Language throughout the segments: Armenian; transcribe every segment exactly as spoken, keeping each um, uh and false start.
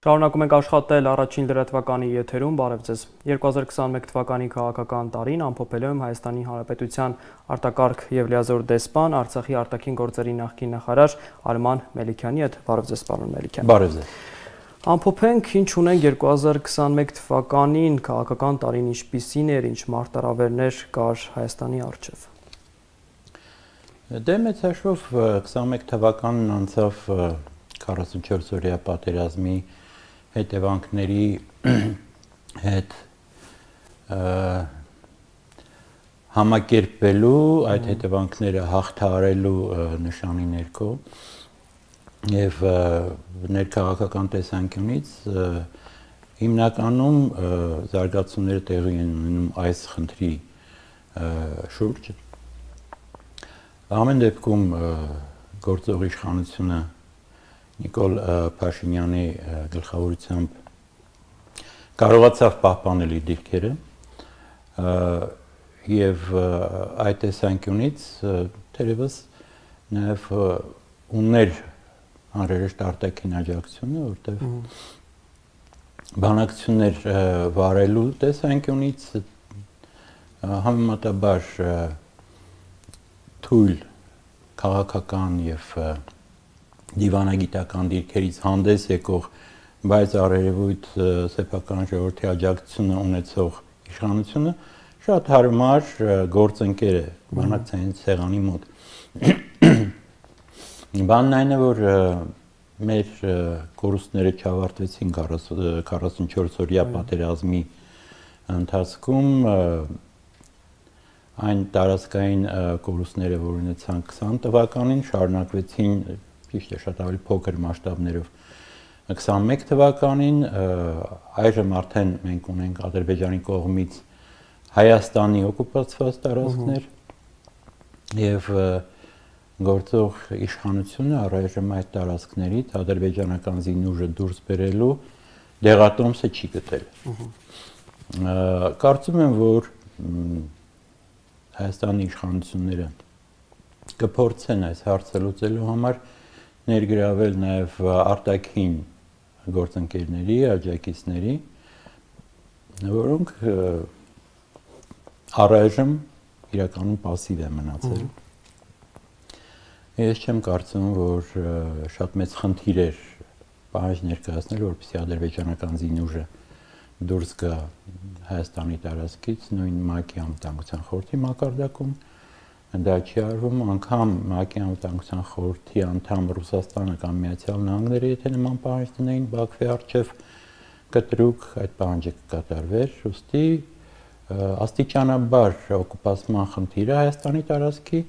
Շարունակում ենք աշխատել առաջին լրատվականի եթերում, բարև ձեզ։ երկու հազար քսաներեք թվականի քաղաքական տարին ամփոփելու եմ Հայաստանի Հանրապետության արտակարգ եւ լիազոր դեսպան, Արցախի արտաքին գործերի նախկին նախարար Արման Մելիքյանի հետ։ Բարև ձեզ, պարոն Մելիքյան։ Բարև ձեզ։ Ամփոփենք, ինչ ունենք երկու հազար քսաներեք թվականին քաղաքական տարին ինչպիսին էր, ինչ մարտահրավերներ կար Հայաստանի առջև։ Դե մեծ հաշվով քսաներեք թվականն անցավ քառասունչորս օրյա պատերազմի հետևանքների հետ համակերպելու, այդ հետևանքները հաղթահարելու նշանի ներքո եւ ներքաղաքական տեսանկյունից հիմնականում զարգացումները տեղի են ունենում այս խնդրի շուրջ։ Ամեն դեպքում գործող իշխանությունը Նիկոլ Փաշինյանի գլխավորությամբ կարողացավ պահպանել իր դիրքերը եւ այդ տեսանկյունից թերևս նաեւ ուներ անհրաժեշտ արտաքին աջակցությունը, որտեղ բանակցություններ վարելու տեսանկյունից համեմատաբար թույլ քաղաքական եւ դիվանագիտական դիրքերից հանդես եկող, բայց առերևույթ սեփական ժողովրդի աջակցությունը ունեցող իշխանությունը շատ հարմար գործընկեր է բանակցային սեղանի մոտ։ Բանն այն է, որ մեր կորուստները չավարտվեցին քառասունչորս օրյա պատերազմի ընթացքում, այն տարածքային կորուստները, որ ունեցան քսան թվականին, շարունակվեցին ճիշտ է շատ ավելի փոքր մասշտաբներով քսաներեք թվականին, այժմ արդեն մենք ունենք Ադրբեջանի կողմից Հայաստանի օկուպացված տարածքներ եւ գործող իշխանությունը առայժմ այդ տարածքներից ադրբեջանական զինուժը դուրս բերելու դեղատոմսը չի գտել։ Կարծում եմ, որ Հայաստանի իշխանությունները կփորձեն այս հարցը լուծելու համար ներգրավել նաև արտաքին գործընկերների, աջակիցների, որոնք առայժմ իրականում պասիվ են մնացել։ Ես չեմ կարծում, որ շատ մեծ խնդիր էր պահանջ ներկայացնել, որպեսզի ադրբեջանական զինուժը դուրս գա Հայաստանի տարածքից, նույն ՄԱԿ-ի անվտանգության խորհրդի մակարդակում դա չի արվում, անգամ ՄԱԿ-ի անվտանգության խորհրդի անդամ Ռուսաստանը կամ Միացյալ Նահանգները, եթե նման պահանջ տնեին Բաքվի առջև կտրուկ, այդ պահանջը կկատարվեր, ուստի աստիճանաբար օկուպացման խնդիրը Հայաստանի տարածքի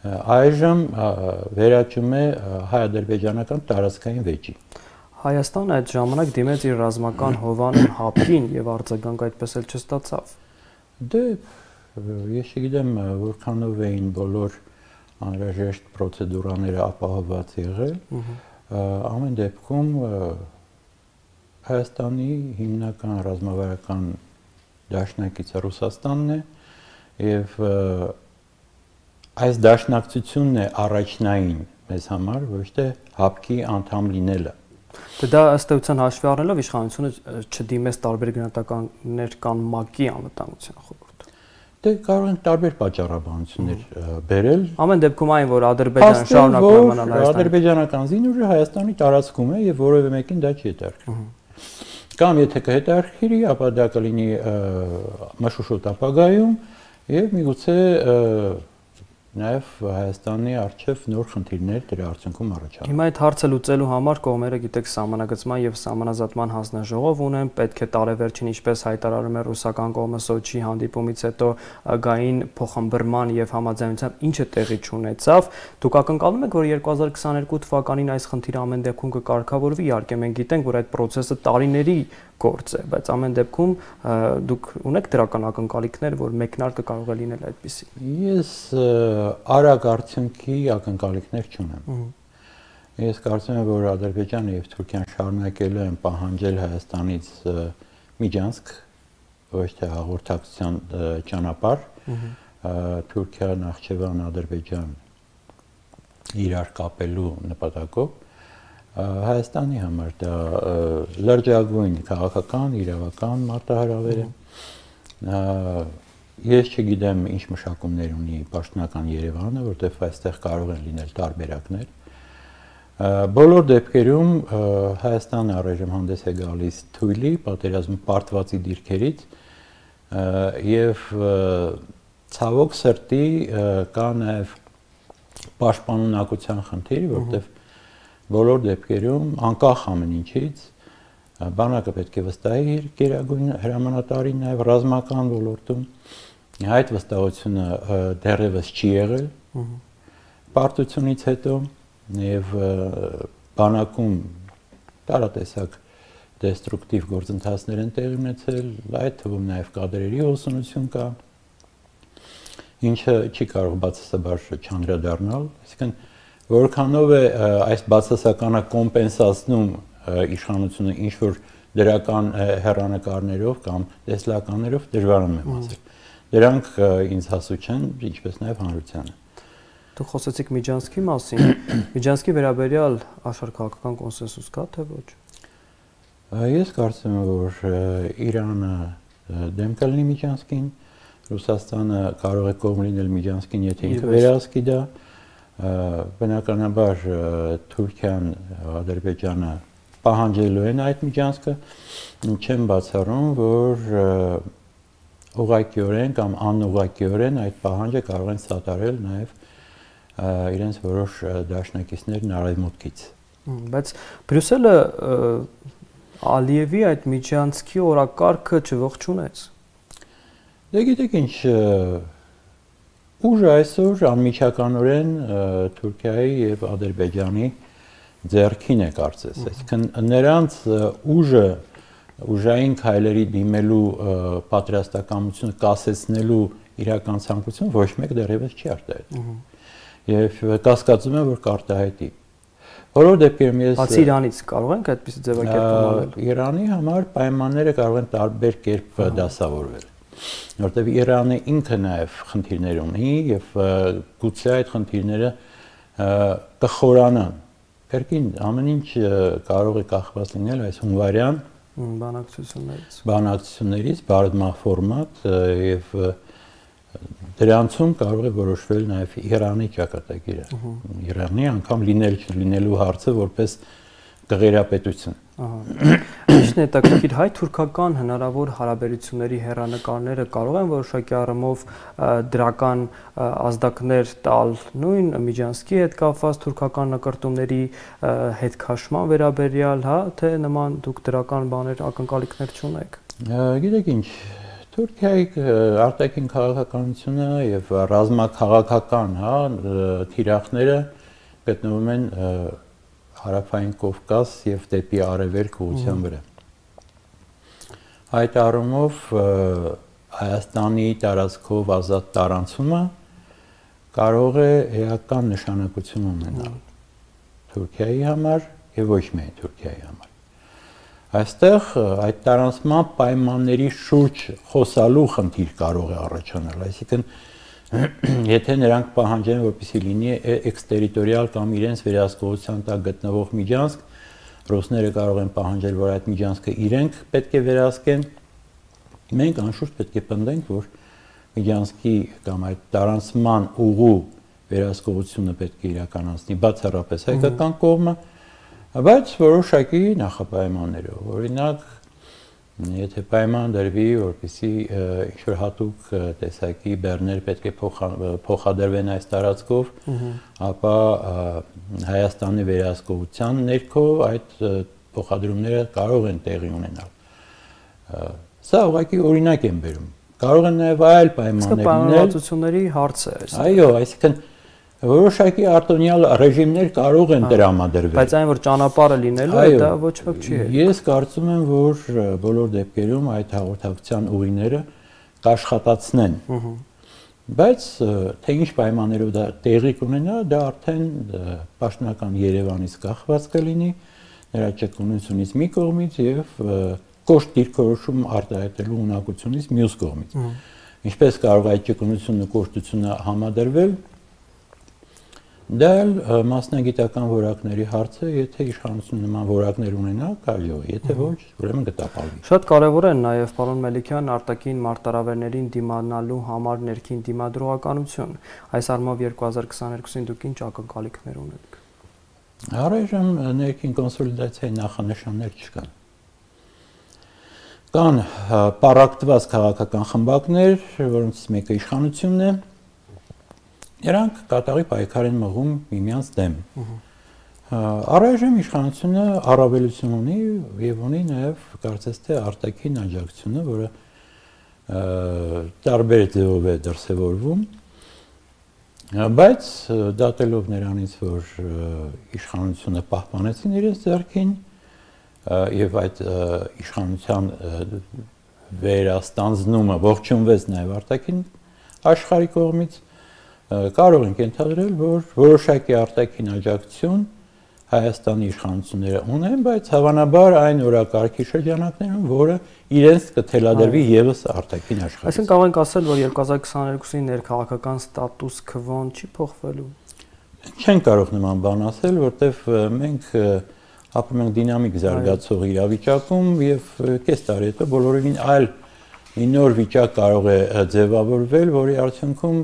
այժմ վերաճում է հայ-ադրբեջանական տարածքային վեճի։ Հայաստանը այդ ժամանակ դիմեց իր ռազմական հովանուն ՀԱՊԿ-ին եւ արձագանք այդպես էլ չստացավ։ Դե ես չգիտեմ որքանով էին բոլոր անհրաժեշտ պրոցեդուրաները ապահովված եղել, ամեն դեպքում Հայաստանի հիմնական ռազմավարական դաշնակիցը Ռուսաստանն է եւ այս դաշնակցությունն է առաջնային մեզ համար, ոչ թե ՀԱՊԿ-ի անդամ լինելը։ Դա ըստ էության հաշվի առնելով իշխանությունը չդիմեց տարբեր գնահատականներ կան ՄԱԿ-ի անվտանգության խորհուրդ։ Դե կարող են տարբեր պատճառաբանություններ բերել։ Ամեն դեպքում այն, որ Ադրբեջանը շարունակում է մնալ Հայաստանի ադրբեջանական զինուժը Հայաստանի տարածքում է եւ որևէ մեկին դա չի հետաքրքրում։ Կամ եթե կհետաքրքրի, ապա դա կլինի մշուշոտ ապագայում եւ միգուցե նաև Հայաստանի առջև նոր խնդիրներ դրա արդյունքում առաջանում։ Հիմա այդ հարցը լուծելու համար կողմերը, գիտեք, սահմանագծման եւ սահմանազատման հանձնաժողով ունեն, պետք է տարեվերջին, ինչպես հայտարարում է ռուսական կողմը Սոչիի հանդիպումից հետո գային փոխհմբռնման եւ համաձայնության ինչը տեղի չունեցավ։ Դուք ակնկալում եք, որ երկու հազար քսաներկու թվականին այս խնդիրը ամեն դեպքում կկարգավորվի, իհարկե մենք գիտենք, որ այդ process-ը տարիների գործ է, բայց ամեն դեպքում դուք ունեք դրական ակնկալիքներ, որ մեկնարկը կարող է լինել այդպիսի։ Ես արագ արդյունքի ակնկալիքներ չունեմ։ Ես կարծում եմ, որ Ադրբեջանը եւ Թուրքիան շարունակելու են պահանջել Հայաստանից միջանցք, ոչ թե հաղորդակցության ճանապարհ, Թուրքիա, Նախճեվան, Ադրբեջան իրար կապելու նպատակով Հայաստանի համար դա լրջագույն քաղաքական, իրավական մարտահրավեր է։ Ես չգիտեմ ինչ մշակումներ ունի պաշտոնական Երևանը, որտեղ այստեղ կարող են լինել տարբերակներ։ Բոլոր դեպքերում Հայաստանը առայժմ հանդես է գալիս թույլի, պատերազմի պարտվածի դիրքերից եւ ցավոք սրտի կա նաեւ պաշտպանունակության խնդիր, որտեղ բոլոր դեպքերում անկախ ամեն ինչից բանակը պետք է վստահի իր գերագույն հրամանատարին նաև ռազմական ոլորտում այդ վստահությունը դեռևս չի եղել պարտությունից հետո եւ բանակում տարատեսակ դեստրուկտիվ գործընթացներ են տեղի ունեցել, այդ թվում նաև կադրերի հոսունություն կա, ինչը չի կարող բացասաբար չանդրադառնալ, այսինքն որքանով է այս բացասականը կոմպենսացնում իշխանությունը ինչ որ դրական հեռանկարներով կամ տեսլականներով դժվարանում եմ ասել։ Դրանք ինձ հասու չեն, ինչպես նաև հանրությանը։ Դուք խոսեցիք Միջանցքի մասին։ Միջանցքի վերաբերյալ աշխարհաքաղաքական կոնսենսուս կա թե ոչ։ Ես կարծում եմ, որ Իրանը դեմ կլինի Միջանցքին, Ռուսաստանը կարող է կողմ լինել Միջանցքին, եթե ինքը վերահսկի դա։ Բնականաբար Թուրքիան, Ադրբեջանը պահանջելու են այդ միջանցքը, չեմ բացառում, որ ուղղակիորեն կամ անուղղակիորեն այդ պահանջը կարող են սատարել նաև իրենց որոշ դաշնակիցներն արևմուտքից։ Բայց Բրյուսելը Ալիևի այդ միջանցքի օրակարգը չողջունեց։ Դե գիտեք ինչ, ուժը այսօր անմիջականորեն Թուրքիայի եւ Ադրբեջանի ձեռքին է կարծես, այսինքն նրանց ուժը ուժային քայլերի դիմելու պատրաստակամությունը կասեցնելու իրական ցանկություն ոչ մեկ դեռևս չի արտահայտել։ Եվ կասկածում եմ, որ կարտահայտի։ Որով դեպքերում ես Բացի Իրանից կարող ենք այդպիսի ձևակերպում անել։ Իրանի համար պայմանները կարող են տարբեր կերպ դասավորվել։ Որտեղ Իրանը ինքը նաև խնդիրներ ունի եւ գուցե այդ խնդիրները կխորանան։ Կերկին ամեն ինչ կարող է կախված լինել այս հունվարյան բանակցություններից։ Բանակցություններից բարդմա ֆորմատ եւ դրանցում կարող է որոշվել նաև Իրանի ճակատագիրը։ Իրանի անգամ լինել չլինելու հարցը որպես կղերապետություն։ Ինչն է հետաքրքիր, հայ-թուրքական հնարավոր հարաբերությունների հեռանկարները կարող են որոշակի առումով դրական ազդակներ տալ նույն Միջանցքի հետ կապված թուրքական նկարտումների հետ քաշման վերաբերյալ, հա, թե նման դուք դրական բաներ ակնկալիքներ չունեք։ Գիտեք ինչ, Թուրքիայի արտաքին քաղաքականությունը եւ ռազմաքաղաքական, հա, թիրախները գտնվում են Հարավային Կովկաս եւ դեպի արևելք ուղղության վրա։ Այդ առումով Հայաստանի տարածքով ազատ տարանցումը կարող է էական նշանակություն ունենալ Թուրքիայի համար եւ ոչ միայն Թուրքիայի համար։ Այստեղ այդ տարանցման պայմանների շուրջ խոսալու խնդիր կարող է առաջանալ, այսինքն եթե նրանք պահանջեն, որպեսզի լինի էքստերիտորիալ կամ իրենց վերահսկողության տակ գտնվող միջանցք, ռուսները կարող են պահանջել, որ այդ միջանցքը իրենք պետք է վերահսկեն, մենք անշուշտ պետք է պնդենք, որ միջանցքի կամ այդ տարանցման ուղու վերահսկողությունը պետք է իրականացնի բացառապես հայկական կողմը, բայց որոշակի նախապայմաններով, օրինակ եթե պայման դրվի, որպեսզի ինչ-որ հատուկ տեսակի բեռներ պետք է փոխադրվեն այս տարածքով, ապա Հայաստանի վերահսկողության ներքո այդ փոխադրումները կարող են տեղի ունենալ։ Սա ուղղակի օրինակ եմ բերում։ Կարող են նաև այլ պայմաններ լինել։ Պայմանավորվածությունների հարց է այս։ Այո, այսինքն Որոշակի արտոնյալ ռեժիմներ կարող են տրամադրվել։ Բայց այն որ ճանապարհը լինելու է, դա ոչ ոք չի հետ։ Ես կարծում եմ, որ բոլոր դեպքերում այդ հաղորդակցության ուղիները կաշխատացնեն։ Բայց թե ինչ պայմաններով դա տեղի կունենա, դա արդեն պաշտոնական Երևանից կախված կլինի, նրա ճկունությունից մի կողմից եւ կոշտ դիրքորոշում արտահայտելու ունակությունից մյուս կողմից։ Ինչպես կարող այդ ճկունությունն ու կոշտությունը համադրվել, դա մասնագիտական որակների հարց է, եթե իշխանությունը նման որակներ ունենա, կարելի է, եթե ոչ, ուրեմն կտապալվի։ Շատ կարևոր է նաև պարոն Մելիքյան արտաքին մարտահրավերներին դիմանալու համար ներքին դիմադրողականություն։ Այս առումով երկու հազար քսաներկուսին դուք ինչ ակնկալիքներ ունեք։ Առայժմ ներքին կոնսոլիդացիայի նախանշաններ չկան։ Կան պառակտված քաղաքական խմբակներ, որոնցից մեկը իշխանությունն է, նրանք կատաղի պայքար են մղում միմյանց դեմ։ Առայժմ իշխանությունը առավելություն ունի եւ ունի նաեւ կարծես թե արտաքին աջակցությունը, որը տարբեր ձևով է դրսևորվում, բայց դատելով նրանից, որ իշխանությունը պահպանեցին իրենց ձեռքին եւ այդ իշխանության վերաստանձնումը ողջունվեց նաեւ արտաքին աշխարհի կողմից, կարող ենք ենթադրել, որ որոշակի արտաքին աջակցություն Հայաստանի իշխանությունները ունեն, բայց հավանաբար այն օրակարգի շրջանակներում, որը իրենց կթելադրվի եւս արտաքին աշխարհից։ Այսինքն կարող ենք ասել, որ երկու հազար քսաներկուսի ներքաղաքական ստատուս քվոն չի փոխվելու։ Չենք կարող նման բան ասել, որտեղ մենք ապրում ենք դինամիկ զարգացող իրավիճակում եւ կես տարի հետո բոլորովին այլ մի նոր վիճակ կարող է ձևավորվել, որի արդյունքում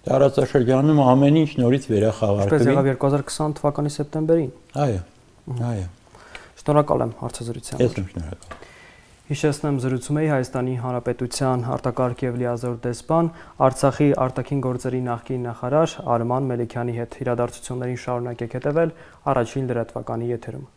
տարածաշրջանում ամեն ինչ նորից վերախաղարկվի։ Ինչպես եղավ երկու հազար քսան թվականի սեպտեմբերին։ Այո, այո։ Շնորհակալ եմ հարցազրույցի համար։ Ես եմ շնորհակալ։ Հիշեցնեմ, զրուցում էի Հայաստանի Հանրապետության արտակարգ եւ լիազոր դեսպան, Արցախի արտաքին գործերի նախկին նախարար Արման Մելիքյանի հետ։ Իրադարձություններին շարունակեք հետևել առաջին լրատվականի եթերում։